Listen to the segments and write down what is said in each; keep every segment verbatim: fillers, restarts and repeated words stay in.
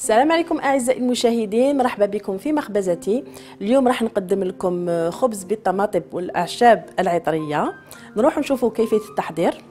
السلام عليكم اعزائي المشاهدين، مرحبا بكم في مخبزتي. اليوم راح نقدم لكم خبز بالطماطم والاعشاب العطريه. نروح نشوفوا كيفيه التحضير.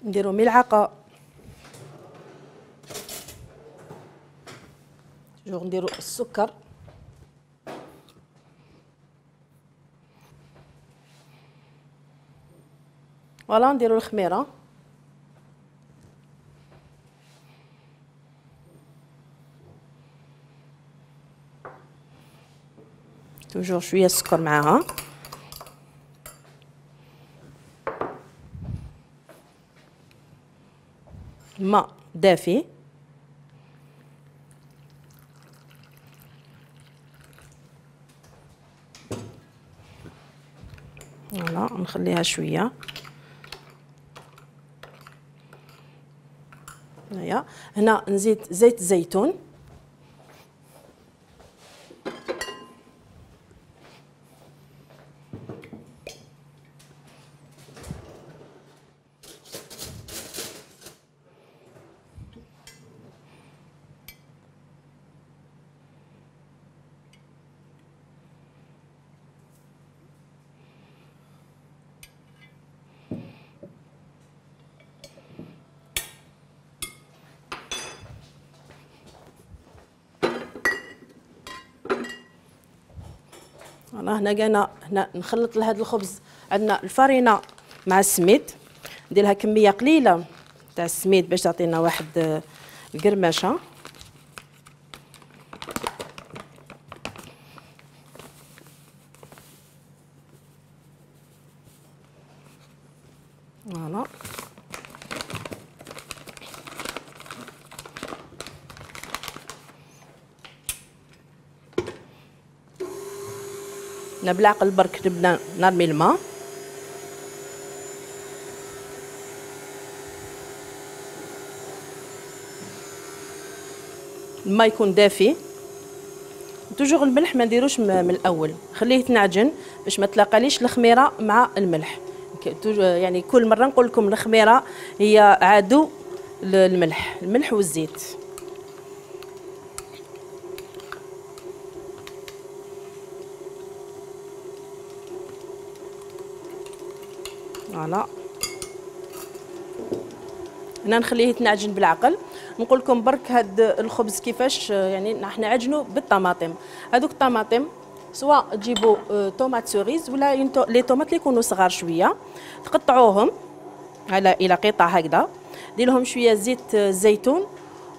نديروا ملعقه جو نديروا السكر، فوالا نديروا الخميره، توجور شويه السكر معاها، ماء دافي، فوالا نخليها شويه. هنايا هنا نزيد زيت زيتون، فوالا هنا قانا هنا نخلط لهذا الخبز. عندنا الفرينه مع السميد، ندير لها كميه قليله تاع السميد باش تعطينا واحد القرمشه. فوالا هنا بالعقل برك نبدا نرمي الماء، الماء يكون دافي. توجور الملح ما نديروش من الاول، خليه يتنعجن باش ما تلاقاليش الخميره مع الملح. يعني كل مره نقول لكم الخميره هي عدو الملح، الملح والزيت. فوالا هنا نخليه يتنعجن بالعقل. نقول لكم برك هاد الخبز كيفاش يعني راح نعجنوا بالطماطم. هذوك الطماطم سواء تجيبوا طوماط سوريز ولا لي طوماط اللي يكونوا صغار شويه، تقطعوهم على الى قطع هكذا، دير لهم شويه زيت زيتون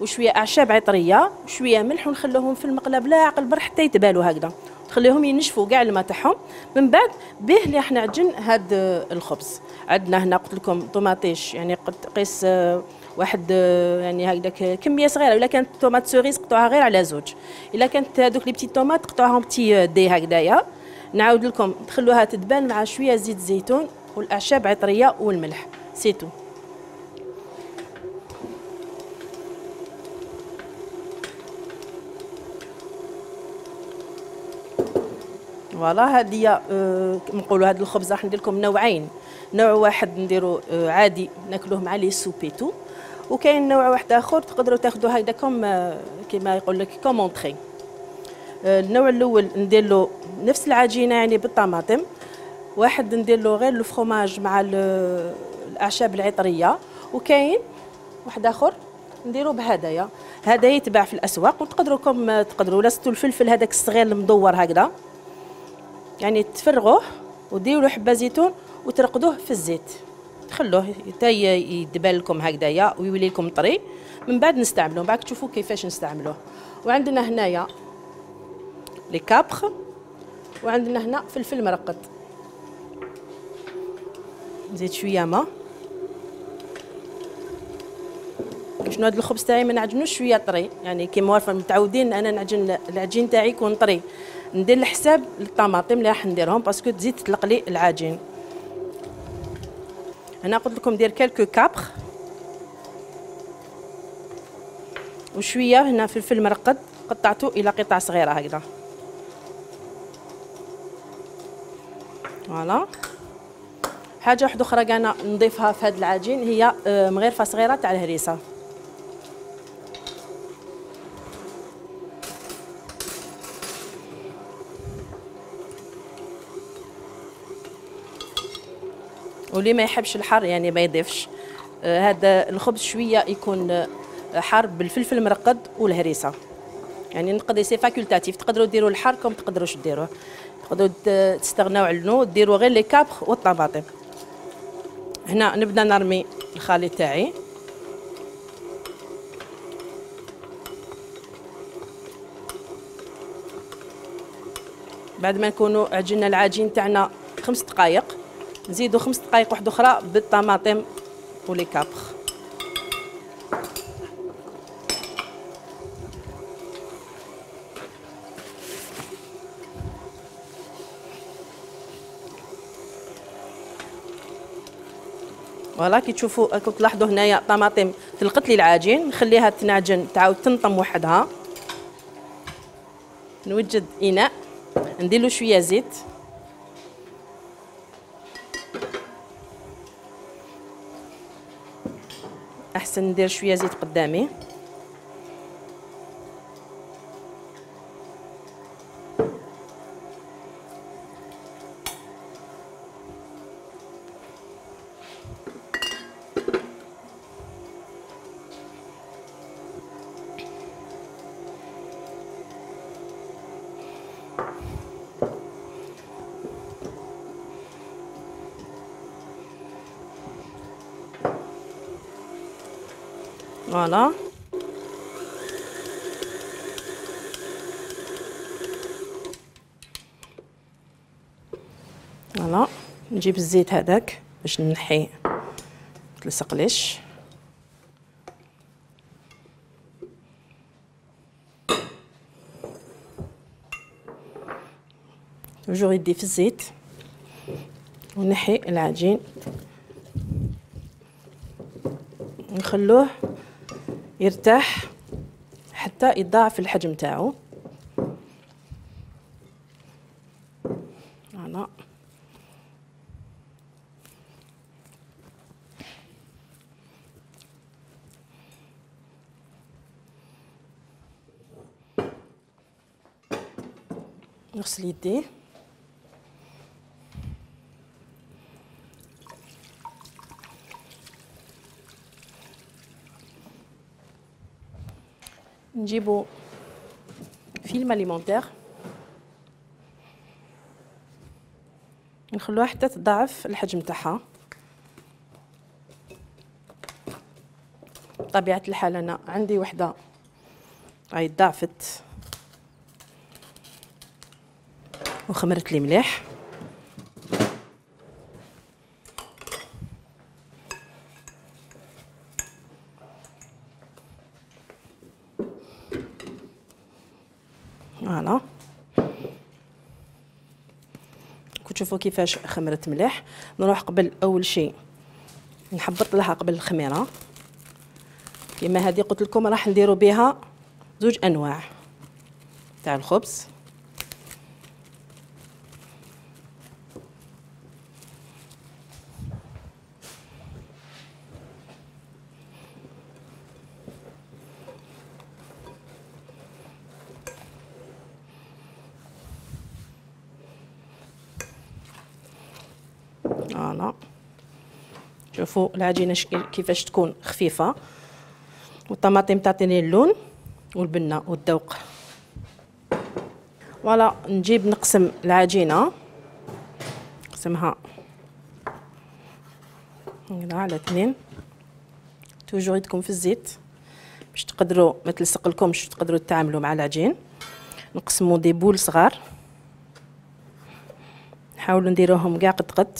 وشويه اعشاب عطريه وشويه ملح، ونخلوهم في المقله بلا عقل برك حتى يتبالوا هكذا، تخليهم ينشفوا كاع الماء تاعهم. من بعد به اللي راح نعجن هاد الخبز. عندنا هنا قلت لكم طوماطيش، يعني قيس واحد يعني هكذاك كميه صغيره، الا كانت طوماط سوريز قطعوها غير على زوج، الا كانت هذوك لي بتي طوماط قطعوهم بتي دي هكذايا. نعاود لكم تخلوها تدبال مع شويه زيت زيتون والاعشاب عطريه والملح، سيتو. فوالا هذه أه نقولوا هذا الخبز راح ندير لكم نوعين، نوع واحد نديرو أه عادي ناكلوه مع لي سوبيتو، وكاين نوع واحد اخر تقدروا تاخذوه هكذا كوم أه كما يقول لك كوم اونطري. أه النوع الاول ندير له نفس العجينه يعني بالطماطم، واحد ندير له غير الفرomاج مع الاعشاب العطريه، وكاين واحد اخر نديرو بهدايا. هذا يتباع في الاسواق، وتقدروكم تقدروا لستو الفلفل هذاك الصغير المدور هكذا، يعني تفرغوه وديروا له حبه زيتون وترقدوه في الزيت، تخلوه حتى يدبل لكم هكذايا ويولي لكم طري. من بعد نستعملوه، بعد تشوفوا كيفاش نستعملوه. وعندنا هنايا لي كابخ، وعندنا هنا فلفل مرقد. نزيد شويه ماء شنو هذا الخبز تاعي ما نعجنوش شويه طري، يعني كيما عارفه متعودين انا نعجن العجين تاعي يكون طري. ندير الحساب للطماطم اللي راح نديرهم باسكو تزيد تطلق لي العجين. هنا قلت لكم ندير كالكو كابخ وشويه هنا فلفل مرقد قطعته الى قطع صغيره هكذا. فوالا. حاجه واحده اخرى كاع نضيفها في هذا العجين هي مغرفه صغيره تاع الهريسه. واللي ما يحبش الحار يعني ما يضيفش. آه هذا الخبز شويه يكون آه حار بالفلفل المرقد والهريسه، يعني نقدر سي فاكولتاتيف، تقدروا ديروا الحار كم تقدروش ديروه، تقدروا تستغناو عنه ديروا غير لي كابخ والطماطم. هنا نبدا نرمي الخليط تاعي. بعد ما نكونوا عجنا العجين تاعنا خمس دقائق نزيدوا خمس دقائق واحده اخرى بالطماطم ولي كابخ. فوالا كي تشوفوا راكم تلاحظوا هنايا طماطم تلقت لي العجين، نخليها تنعجن تعاود تنطم وحدها. نوجد اناء ندير له شويه زيت، احسن ندير شويه زيت قدامي. فوالا. فوالا نجيب الزيت هذاك باش نحي متلصقليش. توجور يدي في الزيت ونحي العجين نخلوه يرتاح حتى يضاعف الحجم تاعو. فوالا. نغسل يدي. نجيبو فيلم اليمونتير نخلوها حتى تضاعف الحجم تاعها. بطبيعة الحال انا عندي وحده هاي ضاعفت وخمرت لي مليح. فوالا كتشوفوا كيفاش خمرت مليح. نروح قبل اول شيء نحبط لها قبل الخميره كيما هذه قلت لكم راح نديروا بها زوج انواع تاع الخبز. فوالا شوفوا العجينه كيفاش تكون خفيفه والطماطم تعطيني اللون والبنه والذوق. فوالا نجيب نقسم العجينه نقسمها هنا على اثنين. توجور يدكم في الزيت باش تقدروا ما تلصق لكمش تقدروا تتعاملوا مع العجين. نقسموا دي بول صغار نحاولوا نديروهم كاع قد قد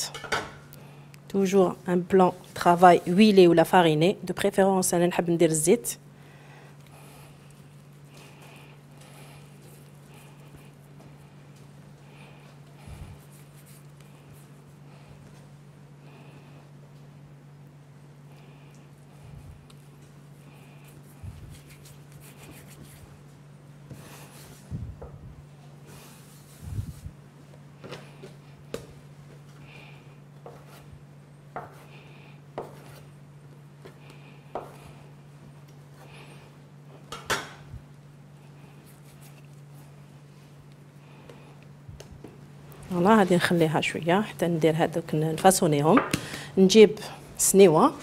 توجور ان بلان ترافاي ويلي ولا فاريني، دو بريفيرونس انا نحب ندير الزيت. فوالا هادي نخليها شويه حتى ندير هذوك نفاصونيهم. نجيب سنيوه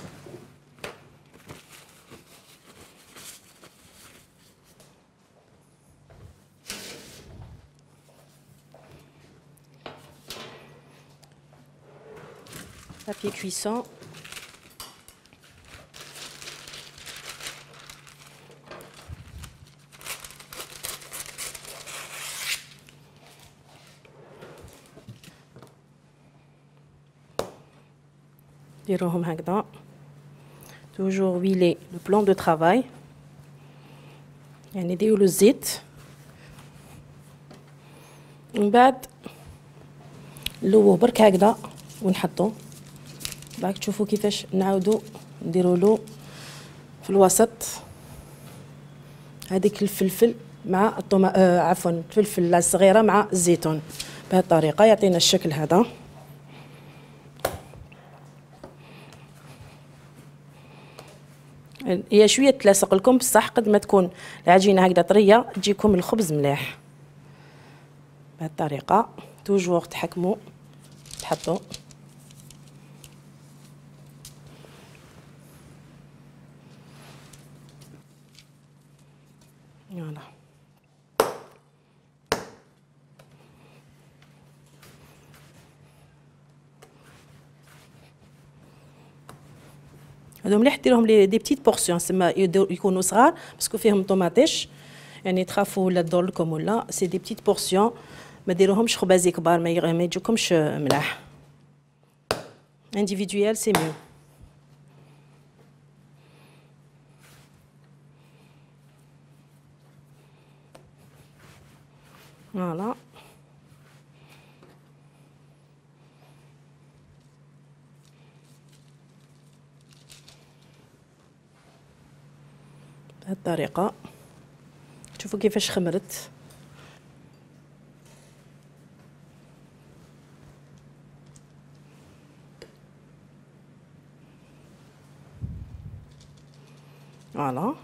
بابي كويسون، ديروهم هكذا. توجور ويلي لو بلان دو ترافاي، يعني ديروا الزيت من بعد نلوه برك هكذا ونحطو. بعد تشوفوا كيفاش نعاودو نديروا له في الوسط هذيك الفلفل مع الطما آه عفوا الفلفل الصغيره مع الزيتون، بهذه الطريقه يعطينا الشكل هذا. هي شويه تلاصق لكم بصح قد ما تكون العجينه هكذا طريه تجيكم الخبز مليح. بهذه الطريقه توجور تحكموا تحطوا. فوالا هادو مليح ديرهم لي دي بتيت بورسيون، سما يكونوا صغار باسكو فيهم طوماطيش، يعني تخافوا ولا تضر لكم ولا سي دي بتيت بورسيون، ما ديروهمش خبازي كبار ما يجوكمش ملاح. انديفيدويال سي ميو. فوالا بهذه الطريقه شوفوا كيفاش خمرت. فوالا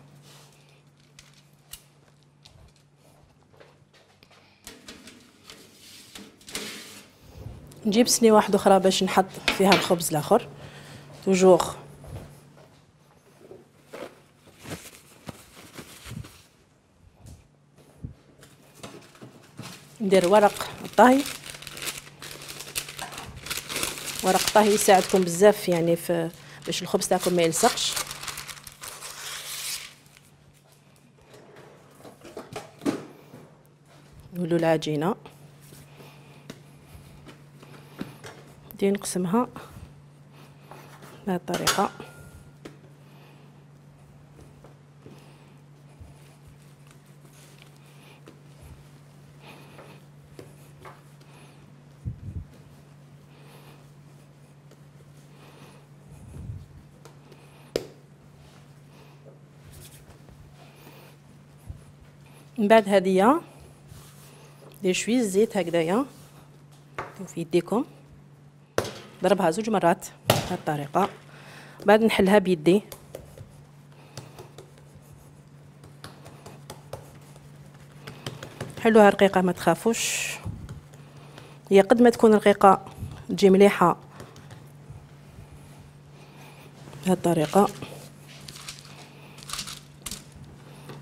نجيب صينيه واحده اخرى باش نحط فيها الخبز الاخر. توجور ندير ورق الطهي. ورق الطهي يساعدكم بزاف يعني في باش الخبز تاعكم ما يلصقش. نولوا العجينه ندير نقسمها بهذه الطريقه. من بعد هادية دير شويه زيت هكذايا في يديكم، ضربها زوج مرات بهذه الطريقه. بعد نحلها بيدي حلوها رقيقه ما تخافوش، هي قد ما تكون رقيقه تجي مليحه بهذه الطريقه.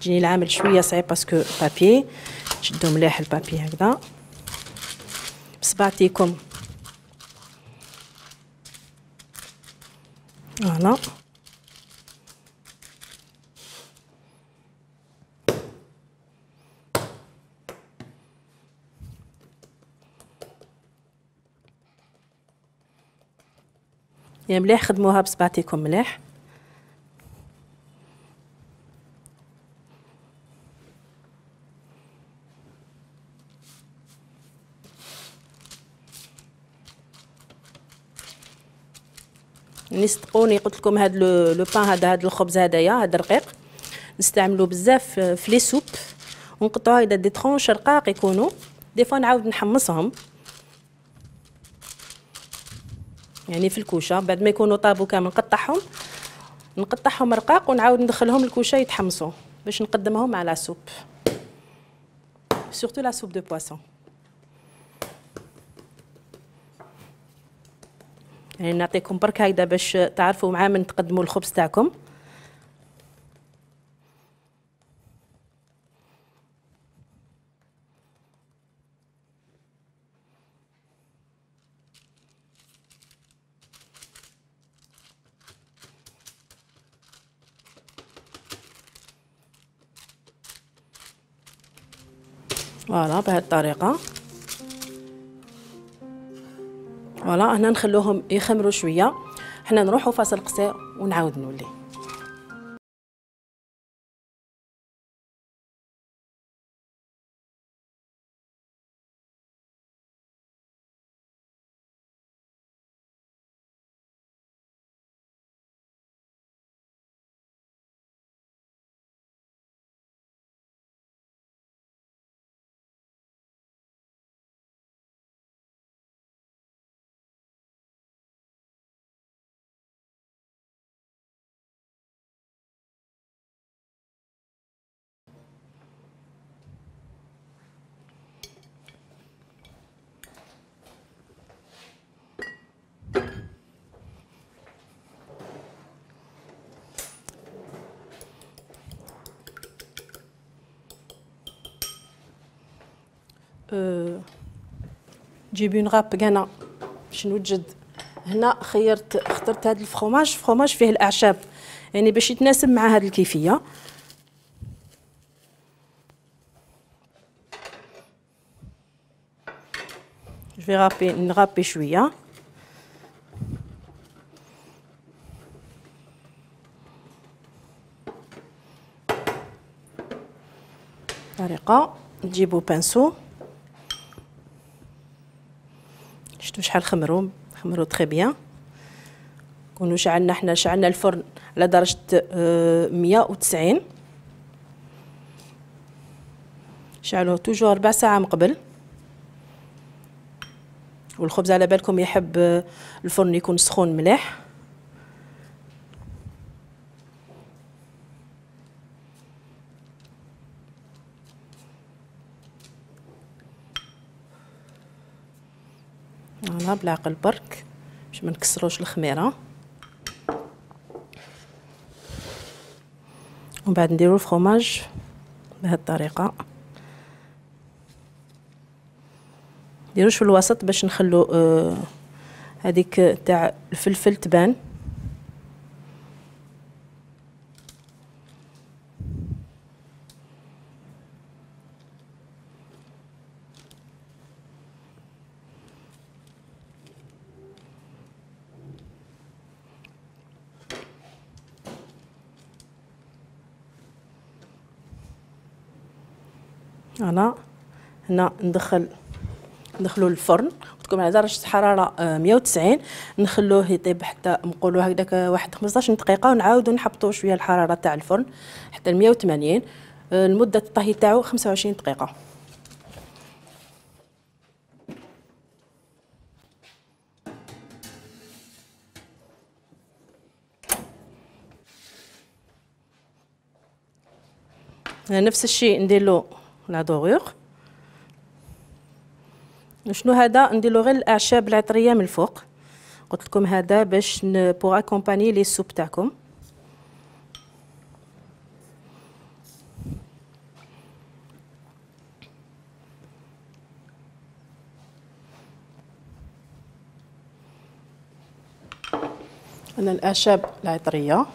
تجيني العمل شويه صعيب باسكو بابي تشدوا مليح البابي هكذا بصبعتيكم. فوالا يا مليح خدموها بصبعتيكم مليح. يعني صدقوني قلت لكم هذا لو بان هذا هذا الخبز هذايا هذا رقيق نستعملوه بزاف في لي سوب، ونقطعوها هكذا دي طرونش رقاق يكونوا، دي فوا نعاود نحمصهم يعني في الكوشه بعد ما يكونوا طابوا كامل نقطعهم نقطعهم رقاق ونعاود ندخلهم الكوشه يتحمصوا باش نقدمهم مع لا سوب، سورتو لا سوب دو بواسون. يعني نعطيكم برك هكذا باش تعرفوا مع من تقدموا الخبز تاعكم. فوالا بهذه الطريقه. فوالا هنا نخلوهم يخمروا شويه، حنا نروحوا فاصل قصير ونعاود نولي. أه جيبي نغاب انا باش نوجد. هنا خيرت اخترت هذا الفرomage، فرomage فيه الاعشاب يعني باش يتناسب مع هذه الكيفيه. جو غابي نغابي شويه طريقه. نجيبو بانسو، شفتوا شحال خمروا خمروا تري بيان. كونوا شعلنا حنا شعلنا الفرن على درجه مية وتسعين، شعلوه توجور ربع ساعه من قبل. والخبز على بالكم يحب الفرن يكون سخون مليح. فوالا بالعقل برك باش ما نكسروش الخميره. ومن بعد نديرو الفرomage بهذه الطريقه، نديروش في الوسط باش نخلو آه هذيك تاع الفلفل تبان. فوالا هنا ندخل ندخلو للفرن تكون على درجه حراره مية وتسعين، نخلوه يطيب حتى نقولوا هكذاك واحد خمسطاش دقيقه، ونعاودوا نحبطوا شويه الحراره تاع الفرن حتى مية وثمانين. المده الطهي تاعو خمسة وعشرين دقيقه. نفس الشيء نديرلو لا دوغور. شنو هذا نديرلو غير الاعشاب العطريه من الفوق، قلت لكم هذا باش بوغ اكومباني لي سوب تاعكم. انا الاعشاب العطريه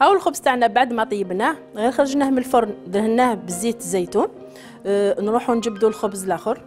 هاو الخبز تاعنا بعد ما طيبناه غير خرجناه من الفرن دهناه بزيت الزيتون. أه نروحوا نجبدوا الخبز الاخر.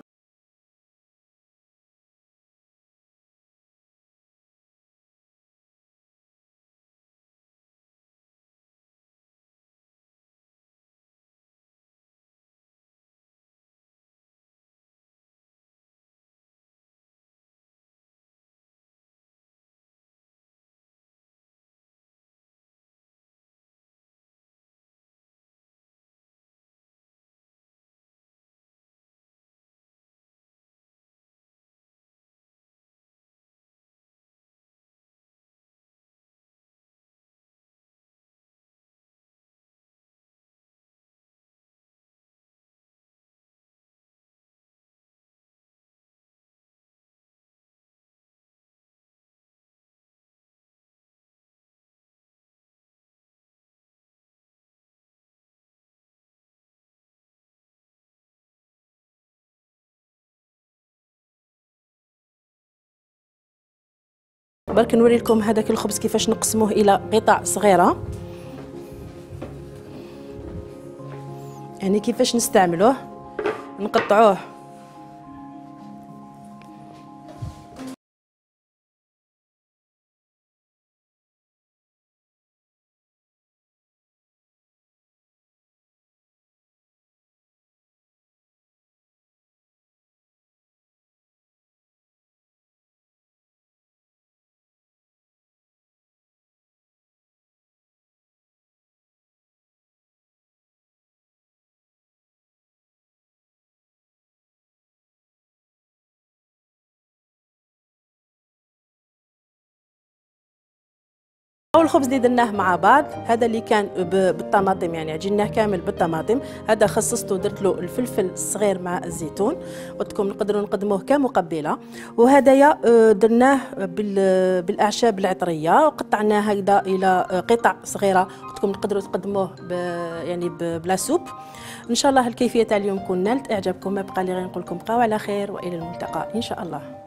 برك نوري لكم هذاك الخبز كيفاش نقسموه الى قطع صغيره، يعني كيفاش نستعملوه. نقطعوه الخبز اللي درناه مع بعض هذا اللي كان بالطماطم، يعني عجناه كامل بالطماطم. هذا خصصته درت له الفلفل الصغير مع الزيتون، قلت لكم نقدروا نقدموه كمقبله. وهدايا درناه بالاعشاب العطريه وقطعناه هكذا الى قطع صغيره، قلت لكم نقدروا تقدموه يعني بلا سوب. ان شاء الله الكيفيه تاع اليوم تكون نالت اعجابكم. ما بقى لي غير نقول لكم بقاو على خير والى الملتقى ان شاء الله.